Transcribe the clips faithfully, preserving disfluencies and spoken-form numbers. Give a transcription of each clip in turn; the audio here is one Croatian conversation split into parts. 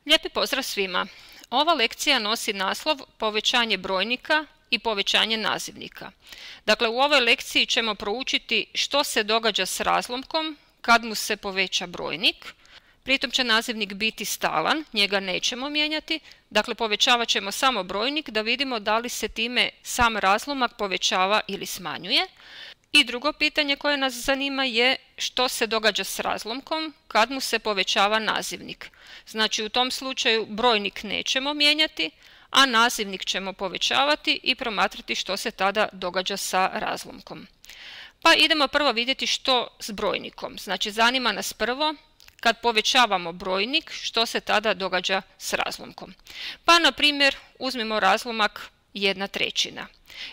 Lijepi pozdrav svima! Ova lekcija nosi naslov Povećanje brojnika i povećanje nazivnika. Dakle, u ovoj lekciji ćemo proučiti što se događa s razlomkom kad mu se poveća brojnik. Pritom će nazivnik biti stalan, njega nećemo mijenjati. Dakle, povećavat ćemo samo brojnik da vidimo da li se time sam razlomak povećava ili smanjuje. I drugo pitanje koje nas zanima je što se događa s razlomkom kad mu se povećava nazivnik. Znači, u tom slučaju brojnik nećemo mijenjati, a nazivnik ćemo povećavati i promatrati što se tada događa sa razlomkom. Pa idemo prvo vidjeti što s brojnikom. Znači, zanima nas prvo kad povećavamo brojnik što se tada događa s razlomkom. Pa na primjer uzmimo razlomak jedna trećina.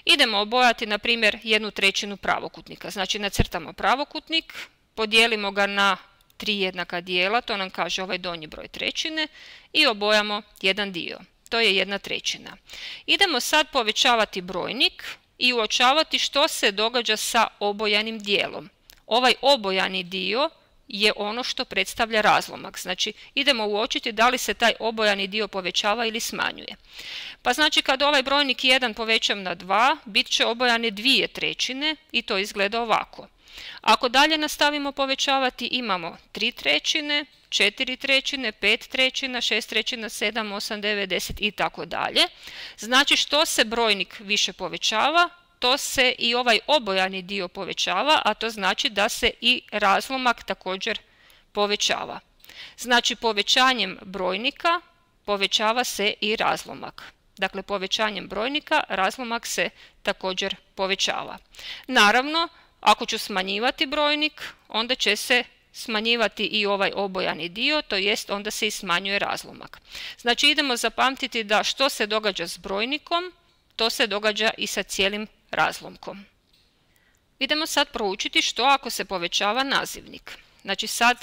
Idemo obojati na primjer jednu trećinu pravokutnika. Znači nacrtamo pravokutnik, podijelimo ga na tri jednaka dijela, to nam kaže ovaj donji broj trećine, i obojamo jedan dio. To je jedna trećina. Idemo sad povećavati brojnik i uočavati što se događa sa obojanim dijelom. Ovaj obojani dio je ono što predstavlja razlomak. Znači, idemo uočiti da li se taj obojani dio povećava ili smanjuje. Pa znači, kad ovaj brojnik jedan povećam na dva, bit će obojane dvije trećine i to izgleda ovako. Ako dalje nastavimo povećavati, imamo tri trećine, četiri trećine, pet trećina, šest trećina, sedam, osam, devet, deset i tako dalje. Znači, što se brojnik više povećava, to se i ovaj obojani dio povećava, a to znači da se i razlomak također povećava. Znači, povećanjem brojnika povećava se i razlomak. Dakle, povećanjem brojnika razlomak se također povećava. Naravno, ako ću smanjivati brojnik, onda će se smanjivati i ovaj obojani dio, to jest onda se i smanjuje razlomak. Znači, idemo zapamtiti da što se događa s brojnikom, to se događa i sa cijelim razlomkom. Idemo sad proučiti što ako se povećava nazivnik. Znači, sad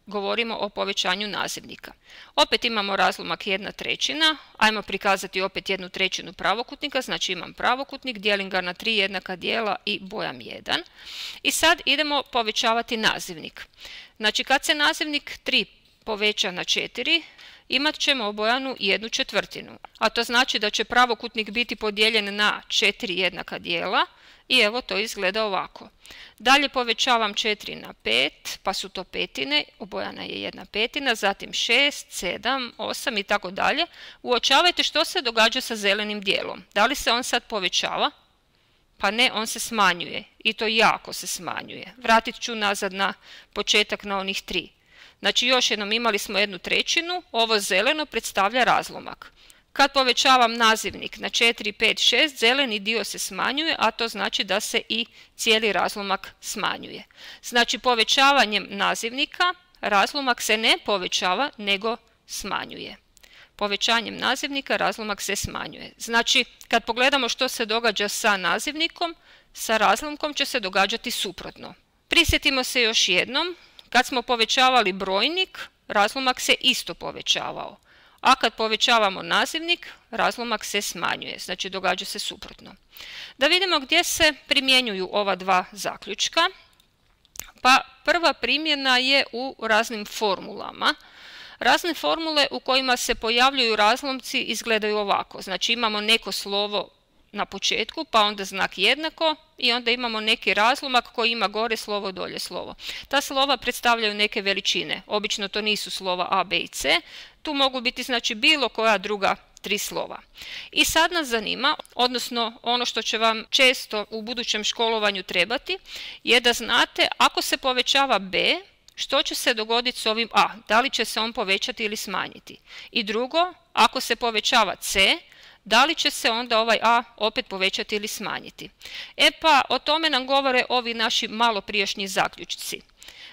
govorimo o povećanju nazivnika. Opet imamo razlomak jedna trećina, ajmo prikazati opet jednu trećinu pravokutnika, znači imam pravokutnik, dijelim ga na tri jednaka dijela i bojam jedan. I sad idemo povećavati nazivnik. Znači, kad se nazivnik tri poveća na četiri, imat ćemo obojanu jednu četvrtinu, a to znači da će pravokutnik biti podijeljen na četiri jednaka dijela i evo to izgleda ovako. Dalje povećavam četiri na pet, pa su to petine, obojana je jedna petina, zatim šest, sedam, osam i tako dalje. Uočavajte što se događa sa zelenim dijelom. Da li se on sad povećava? Pa ne, on se smanjuje i to jako se smanjuje. Vratit ću nazad na početak na onih tri. Znači, još jednom imali smo jednu trećinu, ovo zeleno predstavlja razlomak. Kad povećavam nazivnik na četiri, pet, šest, zeleni dio se smanjuje, a to znači da se i cijeli razlomak smanjuje. Znači, povećavanjem nazivnika razlomak se ne povećava, nego smanjuje. Povećanjem nazivnika razlomak se smanjuje. Znači, kad pogledamo što se događa sa nazivnikom, sa razlomkom će se događati suprotno. Prisjetimo se još jednom. Kad smo povećavali brojnik, razlomak se isto povećavao. A kad povećavamo nazivnik, razlomak se smanjuje. Znači, događa se suprotno. Da vidimo gdje se primjenjuju ova dva zaključka. Pa prva primjena je u raznim formulama. Razne formule u kojima se pojavljuju razlomci izgledaju ovako. Znači, imamo neko slovo na početku, pa onda znak jednako i onda imamo neki razlomak koji ima gore slovo, dolje slovo. Ta slova predstavljaju neke veličine. Obično to nisu slova A, B i C. Tu mogu biti znači bilo koja druga tri slova. I sad nas zanima, odnosno ono što će vam često u budućem školovanju trebati, je da znate ako se povećava B, što će se dogoditi s ovim A? Da li će se on povećati ili smanjiti? I drugo, ako se povećava C, da li će se onda ovaj A opet povećati ili smanjiti? E pa, o tome nam govore ovi naši malo prijašnji zaključci.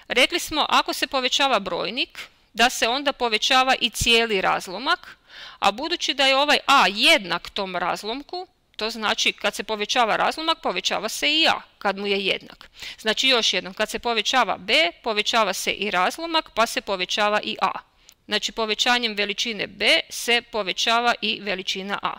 Rekli smo, ako se povećava brojnik, da se onda povećava i cijeli razlomak, a budući da je ovaj A jednak tom razlomku, to znači kad se povećava razlomak, povećava se i A, kad mu je jednak. Znači, još jednom, kad se povećava B, povećava se i razlomak, pa se povećava i A. Znači, povećanjem veličine B se povećava i veličina A.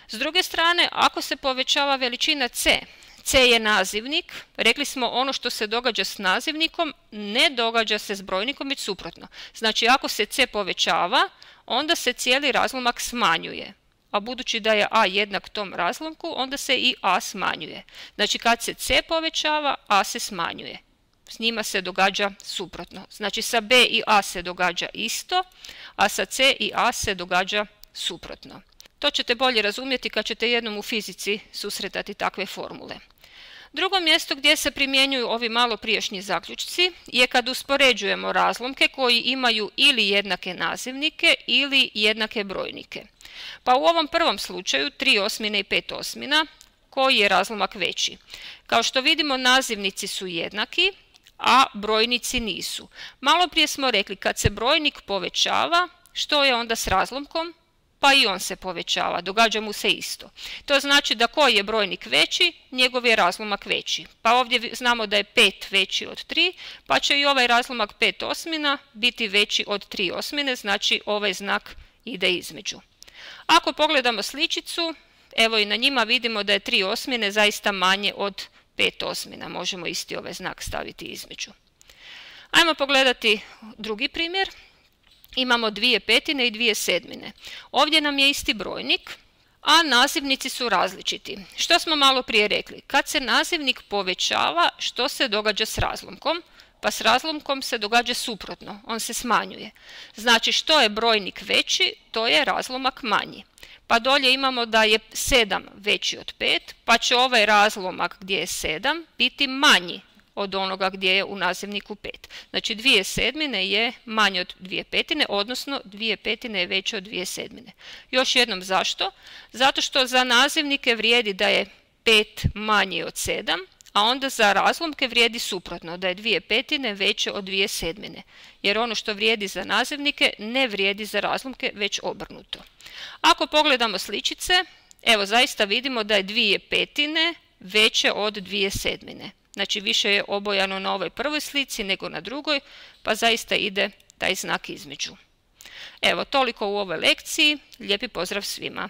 S druge strane, ako se povećava veličina C, C je nazivnik. Rekli smo ono što se događa s nazivnikom ne događa se s brojnikom, već suprotno. Znači ako se C povećava, onda se cijeli razlomak smanjuje. A budući da je A jednak tom razlomku, onda se i A smanjuje. Znači kad se C povećava, A se smanjuje. S njima se događa suprotno. Znači sa B i A se događa isto, a sa C i A se događa suprotno. To ćete bolje razumjeti kad ćete jednom u fizici susretati takve formule. Drugo mjesto gdje se primjenjuju ovi malo prijašnji zaključci je kad uspoređujemo razlomke koji imaju ili jednake nazivnike ili jednake brojnike. Pa u ovom prvom slučaju tri osmine i pet osmina, koji je razlomak veći? Kao što vidimo, nazivnici su jednaki, a brojnici nisu. Malo prije smo rekli kad se brojnik povećava, što je onda s razlomkom? Pa i on se povećava, događa mu se isto. To znači da koji je brojnik veći, njegov je razlomak veći. Pa ovdje znamo da je pet veći od tri, pa će i ovaj razlomak pet osmina biti veći od tri osmine, znači ovaj znak ide između. Ako pogledamo sličicu, evo i na njima vidimo da je tri osmine zaista manje od pet osmina. Možemo isti ovaj znak staviti između. Ajmo pogledati drugi primjer. Imamo dvije petine i dvije sedmine. Ovdje nam je isti brojnik, a nazivnici su različiti. Što smo malo prije rekli? Kad se nazivnik povećava, što se događa s razlomkom? Pa s razlomkom se događa suprotno, on se smanjuje. Znači što je brojnik veći, to je razlomak manji. Pa dolje imamo da je sedam veći od pet, pa će ovaj razlomak gdje je sedam biti manji od onoga gdje je u nazivniku pet. Znači dvije sedmine je manje od dvije petine, odnosno dvije petine je veće od dvije sedmine. Još jednom zašto? Zato što za nazivnike vrijedi da je pet manje od sedam, a onda za razlomke vrijedi suprotno, da je dvije petine veće od dvije sedmine. Jer ono što vrijedi za nazivnike ne vrijedi za razlomke, već obrnuto. Ako pogledamo sličice, evo zaista vidimo da je dvije petine veće od dvije sedmine. Znači više je obojano na ovoj prvoj slici nego na drugoj, pa zaista ide taj znak između. Evo, toliko u ovoj lekciji. Lijepi pozdrav svima!